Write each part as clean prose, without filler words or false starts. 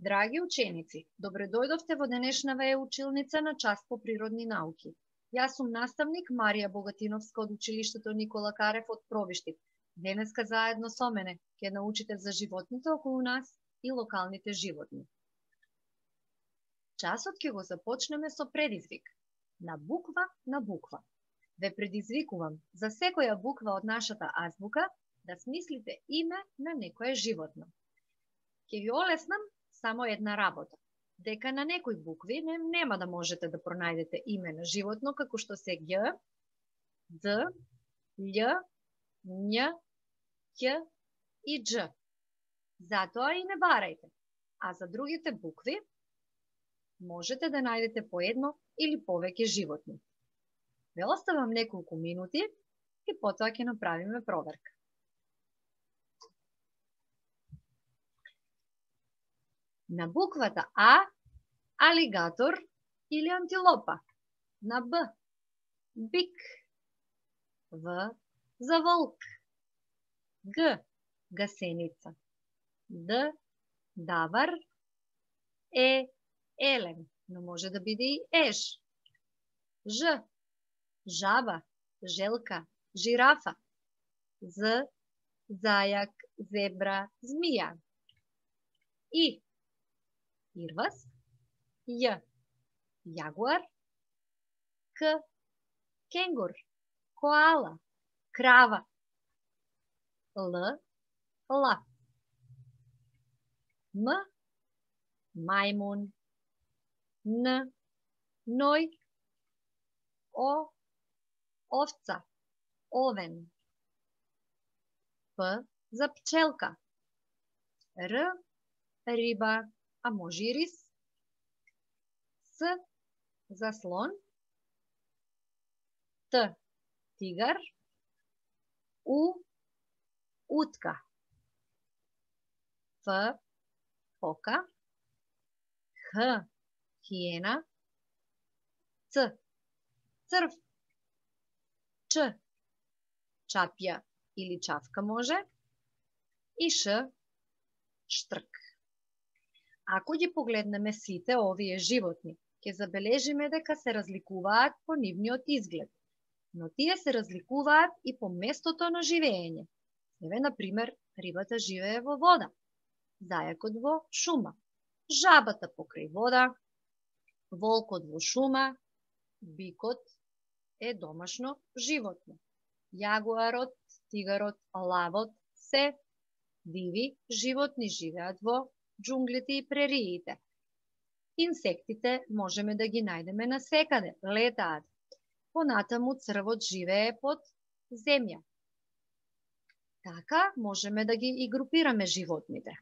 Драги ученици, добре дојдовте во денешнава училница на час по природни науки. Јас сум наставник Марија Богатиновска од училиштето Никола Карев од Пробиштип. Денеска заедно со мене ќе научите за животните околу нас и локалните животни. Часот ќе го започнеме со предизвик. На буква. Ве предизвикувам за секоја буква од нашата азбука да смислите име на некое животно. Ќе ви олеснам само една работа. Дека на некои букви нема да можете да пронајдете име на животно како што се Г, Д, Л, Њ, Ќ и Дж. Затоа и не барајте. А за другите букви можете да најдете по едно или повеќе животни. Ве оставам неколку минути и потоа ќе направиме проверка. На буквата А, алигатор или антилопа. На Б, бик. В, за волк. Г, гасеница. Д, давар. Е, елен, но може да биде и еж. Ж, жаба, желка, жирафа. З, зајак, зебра, змија. И, ирвас. Ј, јагуар. К, кенгур, коала, крава. Л, лав. М, мајмун. Н, ној. О, овца, овен. П, за пчелка. Р, риба, а може и рис. С, за слон. Т, тигар. У, утка. Ф, фока. Х, хиена. Ц, црв. Ч, чапја или чавка може. И Ш, штрк. Ако ги погледнеме сите овие животни, ќе забележиме дека се разликуваат по нивниот изглед, но тие се разликуваат и по местото на живење. Еве, например, рибата живее во вода, зајакот во шума, жабата покрај вода, волкот во шума, бикот е домашно животно, јагуарот, тигарот, лавот се диви животни, живеат во џунглите и прериите. Инсектите можеме да ги најдеме насекаде, летаат. Понатаму црвот живее под земја. Така можеме да ги и групираме животните.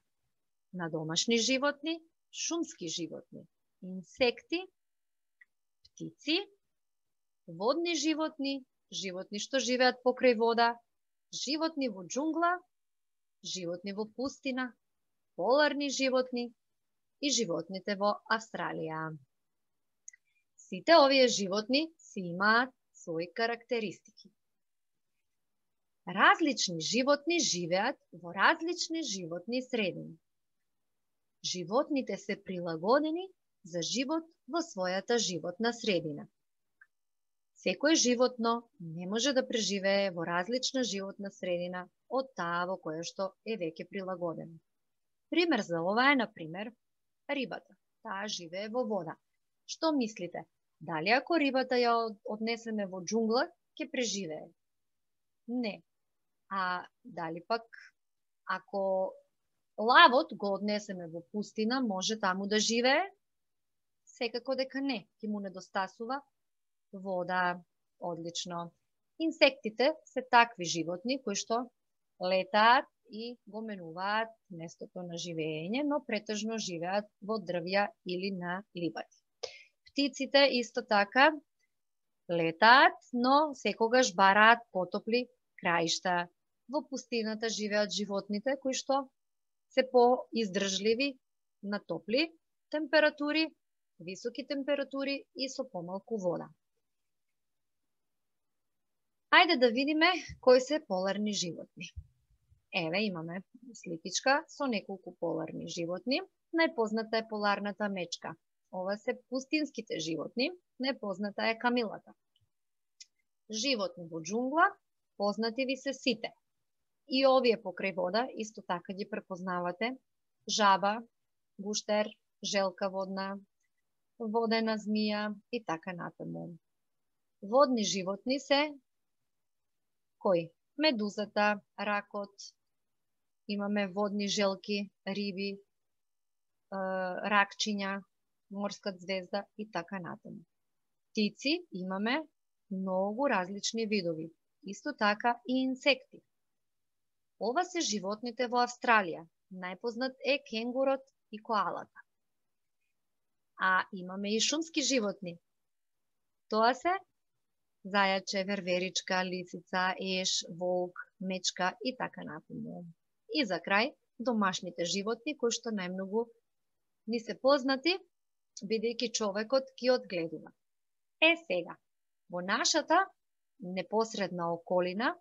На домашни животни, шумски животни, инсекти, птици, водни животни, животни што живеат покрај вода, животни во џунгла, животни во пустина, поларни животни и животните во Австралија. Сите овие животни си имаат своји карактеристики. Различни животни живеат во различни животни средини. Животните се прилагодени за живот во својата животна средина. Секој животно не може да преживее во различна животна средина од таа во која што е веќе прилагодена. Пример за ова е, например, рибата. Таа живее во вода. Што мислите? Дали ако рибата ја однесеме во џунгла, ќе преживее? Не. А дали пак ако лавот го однесеме во пустина, може таму да живее? Секако дека не. Ќе му недостасува вода. Одлично. Инсектите се такви животни кои што летаат и го менуваат местото на живење, но претежно живеат во дрвја или на ливади. Птиците исто така летаат, но секогаш бараат потопли краишта. Во пустината живеат животните кои што се поиздржливи на топли температури, високи температури и со помалку вода. Ајде да видиме кои се поларни животни. Еве имаме сликичка со неколку поларни животни. Најпозната е поларната мечка. Ова се пустинските животни, најпозната е камилата. Животни во џунгла, познати ви се сите. И овие покрај вода исто така ги препознавате. Жаба, гуштер, желка водна, водена змија и така натаму. Водни животни се кои? Медузата, ракот, имаме водни желки, риби, ракчиња, морска звезда и така натаму. Птици имаме многу различни видови, исто така и инсекти. Ова се животните во Австралија. Најпознат е кенгурот и коалата. А имаме и шумски животни. Тоа се зајаче, верверичка, лисица, еш, волк, мечка и така натаму. И за крај, домашните животни кои што најмногу ни се познати, бидејќи човекот ги одгледува. Сега, во нашата непосредна околина,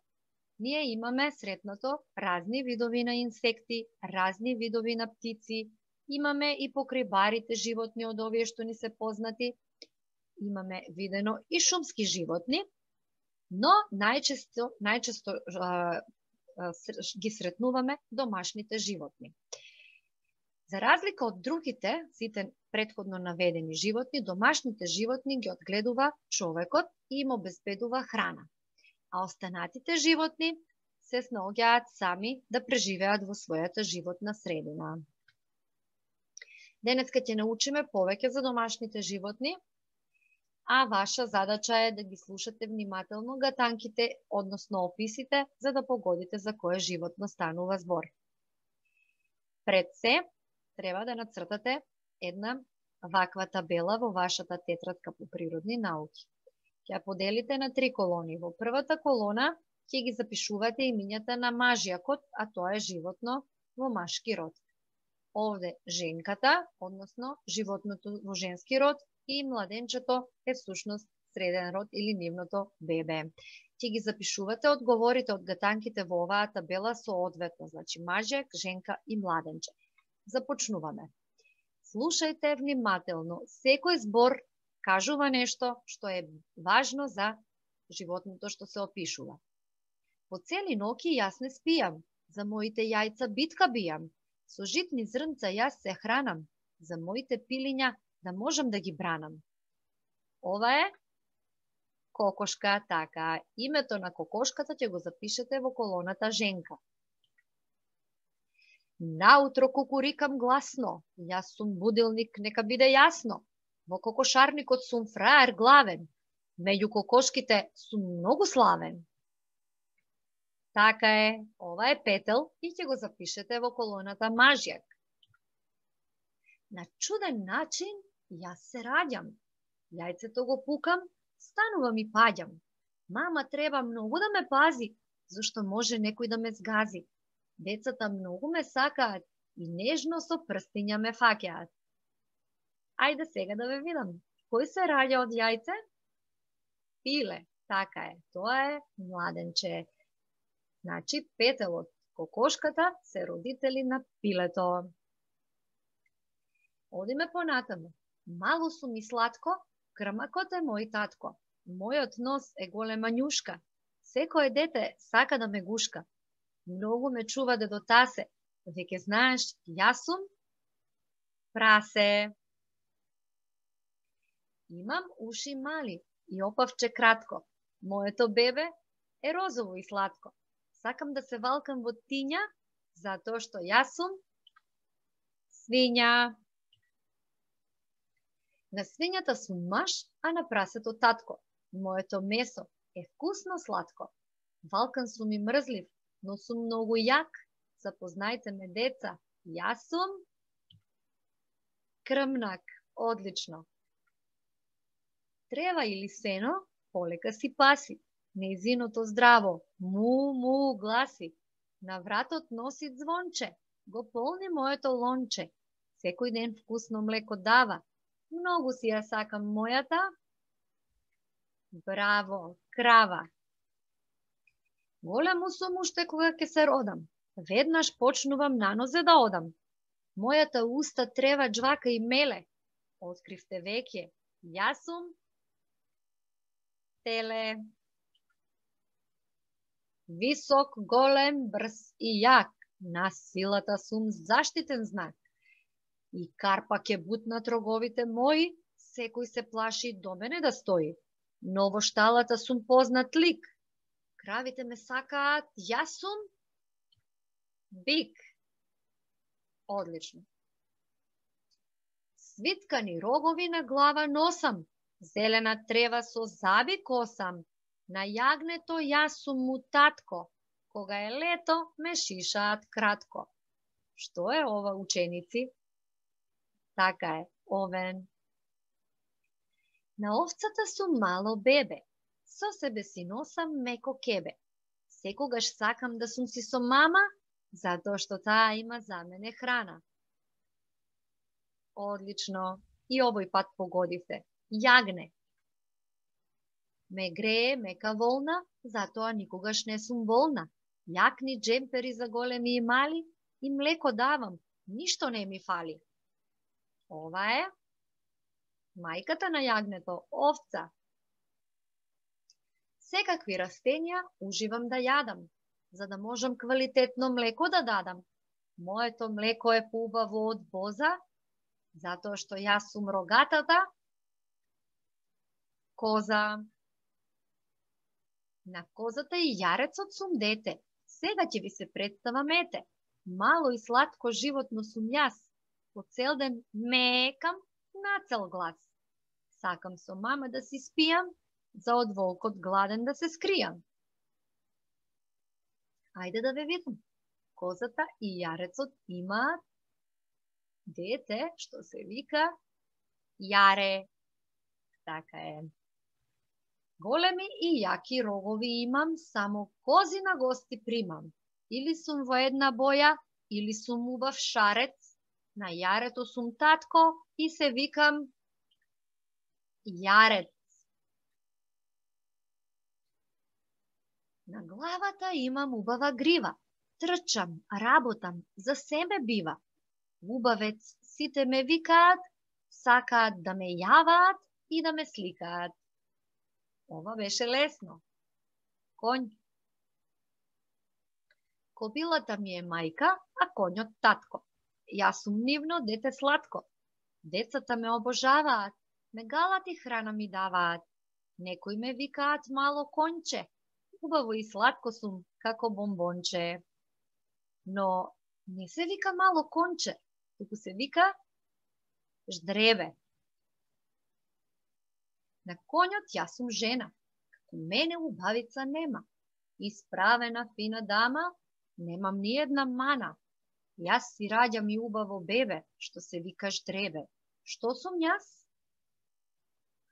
ние имаме сретнато разни видови на инсекти, разни видови на птици, имаме и покрај барите животни од овие што ни се познати, имаме видено и шумски животни, но најчесто ги сретнуваме домашните животни. За разлика од другите, сите претходно наведени животни, домашните животни ги одгледува човекот и им обезбедува храна. А останатите животни се снаоѓаат сами да преживеат во својата животна средина. Денеска ќе научиме повеќе за домашните животни, а ваша задача е да ги слушате внимателно гатанките, односно описите, за да погодите за кое животно станува збор. Пред се, треба да нацртате една ваква табела во вашата тетрадка по природни науки. Ќе ја поделите на 3 колони. Во првата колона ќе ги запишувате имињата на мажјакот, а тоа е животно во машки род. Овде женката, односно животното во женски род, и младенчето е всушност среден род или нивното бебе. Ќе ги запишувате одговорите од гатанките во оваа табела соодветно, значи мажјак, женка и младенче. Започнуваме. Слушајте внимателно. Секој збор кажува нешто што е важно за животното што се опишува. По цели ноќи јас не спијам, за моите јајца битка бијам, со житни зрнца јас се хранам, за моите пилиња да можам да ги бранам. Ова е кокошка, така. Името на кокошката ќе го запишете во колоната женка. Наутро кукурикам гласно, јас сум будилник, нека биде јасно. Во кокошарникот сум фраер главен, меѓу кокошките сум многу славен. Така е, ова е петел и ќе го запишете во колоната мажјак. На чуден начин јас се раѓам, јајцето го пукам, станувам и паѓам. Мама треба многу да ме пази, зашто може некој да ме згази. Децата многу ме сакаат и нежно со прстиња ме фаќаат. Ајде сега да ве видам. Кој се раѓа од јајце? Пиле, така е, тоа е младенче. Значи, петелот, кокошката се родители на пилето. Одиме понатаму. Мало сум и сладко, крмакот е мој татко. Мојот нос е голема њушка. Секое дете сака да ме гушка. Многу ме чува дедо тасе. Веќе знаеш, јас сум прасе. Имам уши мали и опавче кратко. Моето бебе е розово и сладко. Сакам да се валкам во тиња, затоа што јас сум свиња. На свињата сум маж, а на прасето татко. Моето месо е вкусно сладко. Валкан сум и мрзлив, но сум многу јак. Запознајте ме, деца, јас сум крмнак. Одлично. Трева или сено, полека си паси. Нејзиното здраво, му гласи. На вратот носи звонче, го полни моето лонче. Секој ден вкусно млеко дава. Многу си ја сакам мојата. Браво, крава. Големо сум уште кога ќе се родам. Веднаш почнувам на нозе да одам. Мојата уста трева джвака и меле. Откривте веќе. Јас сум теле. Висок, голем, брз и јак. На силата сум заштитен знак. И карпа ќе бутнат роговите мои, секој се плаши до мене да стои. Но во шталата сум познат лик. Кравите ме сакаат, јас сум бик. Одлично. Свиткани рогови на глава носам, зелена трева со заби косам. На јагнето јас сум му татко, кога е лето ме шишаат кратко. Што е ова, ученици? Така е, овен. На овцата сум мало бебе, со себе си носам меко кебе. Секогаш сакам да сум си со мама, затоа што таа има за мене храна. Одлично. И овој пат погодивте. Јагне. Ме грее мека волна, затоа никогаш не сум болна. Јакни джемпери за големи и мали, и млеко давам, ништо не ми фали. Ова е мајката на јагнето, овца. Секакви растенија уживам да јадам, за да можам квалитетно млеко да дадам. Моето млеко е поубаво од боза, затоа што јас сум рогатата коза. На козата и јарецот сум дете, сега ќе ви се представам ете. Мало и сладко животно сум јас, по цел ден мекам на цел глас. Сакам со мама да си спијам, за од волкот гладен да се скријам. Ајде да ве видам. Козата и јарецот имаат дете што се вика Јаре. Така е. Големи и јаки рогови имам, само кози на гости примам. Или сум во една боја, или сум убав шарец, на јарето сум татко и се викам Јарец. На главата имам убава грива, трчам, работам, за себе бива. Убавец, сите ме викаат, сакаат да ме јаваат и да ме сликаат. Ова беше лесно. Конј. Кобилата ми е мајка, а конјот татко. Јас сум нивно дете сладко. Децата ме обожаваат, ме галат и храна ми даваат. Некои ме викаат мало конче. Убаво и сладко сум, како бомбонче. Но не се вика мало конче, туку се вика ждребе. На конјот јас сум жена, како мене убавица нема. Исправена фина дама, немам ни една мана. Јас си раѓам и убаво бебе, што се вика ждребе. Што сум јас?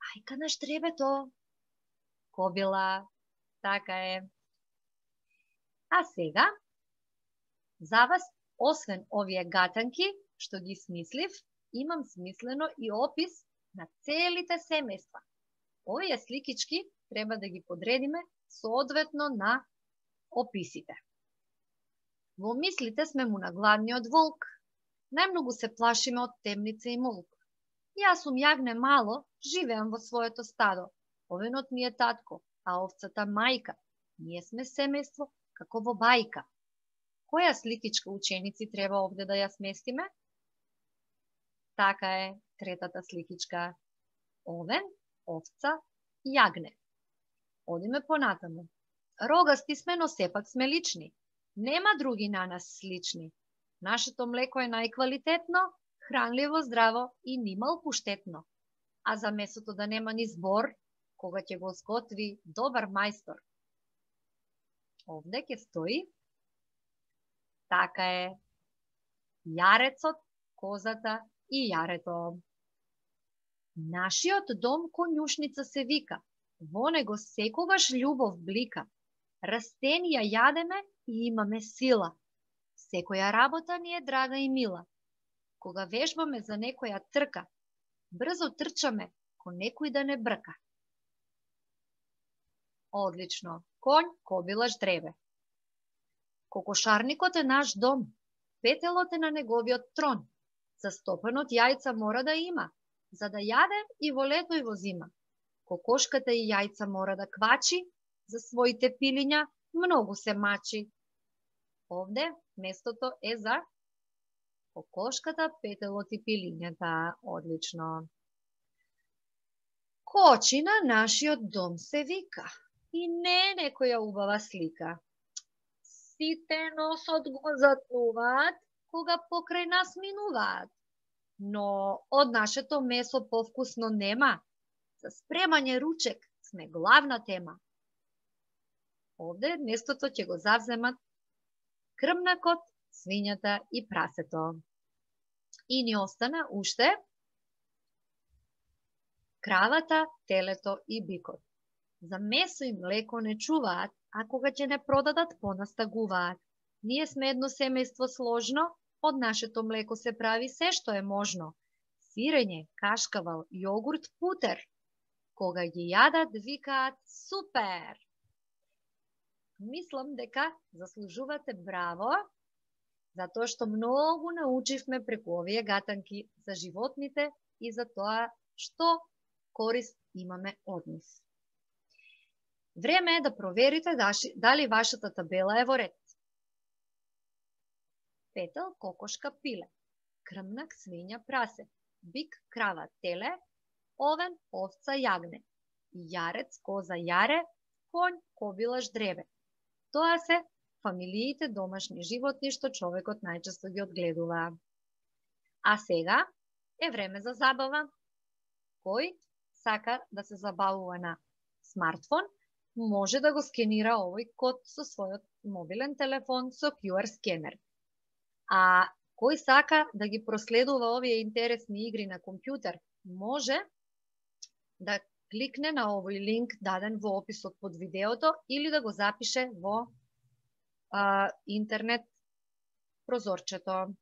Мајка на ждребето. Кобила. Така е. А сега, за вас, освен овие гатанки, што ги смислив, имам смислено и опис на целите семејства. Овие сликички треба да ги подредиме соодветно на описите. Во мислите сме му на главниот волк. Најмногу се плашиме од темница и молк. Јас сум јагне мало, живеам во своето стадо. Овенот ми е татко, а овцата мајка. Ние сме семејство како во бајка. Која сликичка, ученици, треба овде да ја сместиме? Така е, третата сликичка. Овен, овца, јагне. Одиме понатаму. Рогасти сме, но сепак сме лични. Нема други на нас слични. Нашето млеко е најквалитетно, хранливо, здраво и нимал пуштетно. А за месото да нема ни збор, кога ќе го сготви добар мајстор. Овде ќе стои. Така е. Јарецот, козата и јарето. Нашиот дом конјушница се вика. Во него секогаш љубов блика. Растенија јадеме и имаме сила. Секоја работа ни е драга и мила. Кога вежбаме за некоја трка, брзо трчаме, ко некој да не брка. Одлично. Конј, кобила, ждребе. Кокошарникот е наш дом, петелот е на неговиот трон. Застопен од јајца мора да има, за да јаде и во лето и во зима. Кокошката и јајца мора да квачи, за своите пилиња многу се мачи. Овде местото е за кокошката, петелот и пилињата. Одлично. Кочи на нашиот дом се вика и не е некоја убава слика. Сите носот го затнуваат кога покрај нас минуваат. Но од нашето месо повкусно нема. За спремање ручек сме главна тема. Овде местото ќе го завземат крмнакот, свињата и прасето. И ни остана уште кравата, телето и бикот. За месо и млеко не чуваат, а кога ќе не продадат, понастагуваат. Ние сме едно семејство сложно, од нашето млеко се прави се што е можно. Сирење, кашкавал, јогурт, путер. Кога ги јадат, викаат супер! Мислам дека заслужувате браво, затоа што многу научивме преку овие гатанки за животните и за тоа што корист имаме од нив. Време е да проверите дали вашата табела е во ред. Петел, кокошка, пиле. Крмнак, свиња, прасе. Бик, крава, теле. Овен, овца, јагне. Јарец, коза, јаре. Конј, кобилаш, дребе. Тоа се фамилиите домашни животни што човекот најчесто ги одгледува. А сега е време за забава. Кој сака да се забавува на смартфон, може да го скенира овој код со својот мобилен телефон со QR скенер. А кој сака да ги проследува овие интересни игри на компјутер, може да кликне на овој линк даден во описот под видеото или да го запише во интернет прозорчето.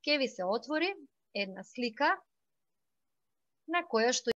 Ке ви се отвори една слика на која што